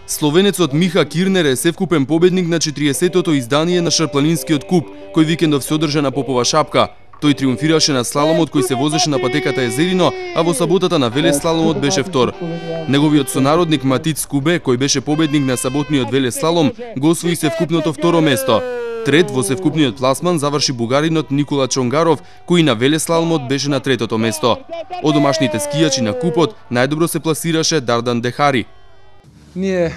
Словенецот Миха Кирнер е севкупен победник на 40-тото издание на Шарпланинскиот куп, кој викендов се одржа на Попова шапка. Тој триумфираше на слаломот кој се возеше на патеката Езерино, а во саботата на велеслаломот беше втор. Неговиот сонародник Матиц Кубе, кој беше победник на саботниот велеслалом, го освои севкупното второ место. Трет во севкупниот пласман заврши бугаринот Никола Чонгаров, кој на велеслаломот беше на третото место. Од домашните скијачи на купот најдобро се пласираше Дардан Дехари. Не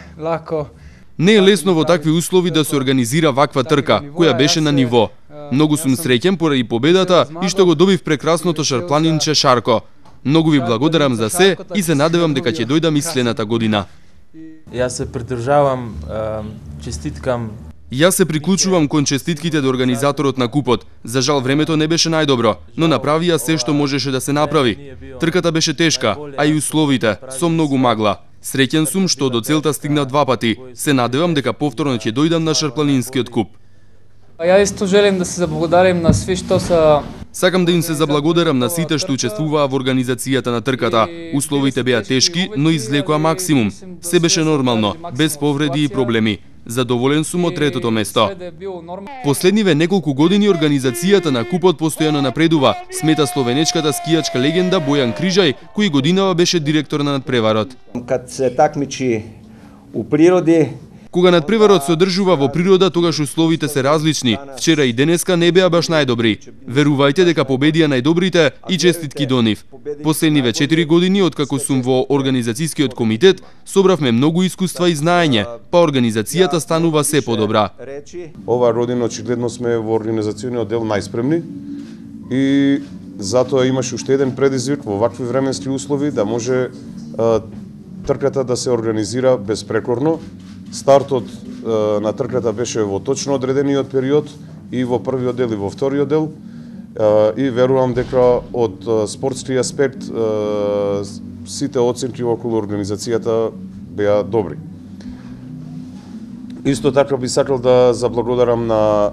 е лесно во такви услови да се организира ваква трка, која беше на ниво. Многу сум среќен поради победата и што го добив прекрасното шарпланинче Шарко. Многу ви благодарам за се и се надевам дека ќе дојдам и следната година. Јас се придржавам, честиткам. Јас се приклучувам кон честитките до организаторот на купот. За жал времето не беше најдобро, но направија се што можеше да се направи. Трката беше тешка, а и условите со многу магла. Среќен сум што до целта стигнав 2 пати. Се надевам дека повторно ќе дојдам на Шарпланинскиот куп. Ја исто желим да се заблагодарим на сви што са. Сакам да им се заблагодарам на сите што учествуваа во организацијата на трката. Условите беа тешки, но извлекоа максимум. Се беше нормално, без повреди и проблеми. Задоволен сум од третото место. Последниве неколку години организацијата на купот постојано напредува, смета словенечката скијачка легенда Бојан Крижај, кој годинава беше директор на надпреварот. Кад се такмичи у природи, кога надпреварот се одржува во природа, тогаш условите се различни. Вчера и денеска не беа баш најдобри. Верувајте дека победија најдобрите и честитки до нив. Последниве 4 години, откако сум во организацијскиот комитет, собравме многу искуства и знаење, па организацијата станува се подобра. Ова година очигледно сме во организацијниот дел најспремни и затоа имаше уште еден предизвик во вакви временски услови да може трката да се организира безпрекорно. Стартот на трката беше во точно одредениот период и во првиот дел и во вториот дел и верувам дека од спортски аспект сите оценки околу организацијата беа добри. Исто така би сакал да заблагодарам на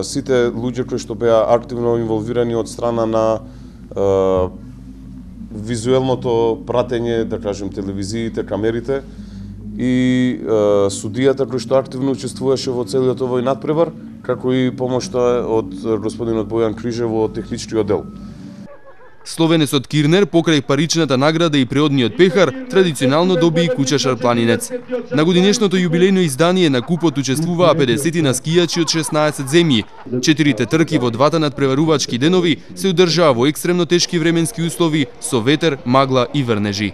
сите луѓе кои што беа активно инволвирани од страна на визуелното пратење, да кажем, телевизиите, камерите, и судијата кој што активно учествуваше во целиот овој надпревар, како и помошта од господинот Бојан Крижај во техничкиот дел. Словенецот Кирнер покрај паричната награда и преодниот пехар традиционално доби и куќа шарпланинец. На годинешното јубилејно издание на купот учествуваа 50 скијачи од 16 земји. 4 трки во 2 надпреварувачки денови се одржаа во екстремно тешки временски услови со ветер, магла и врнежи.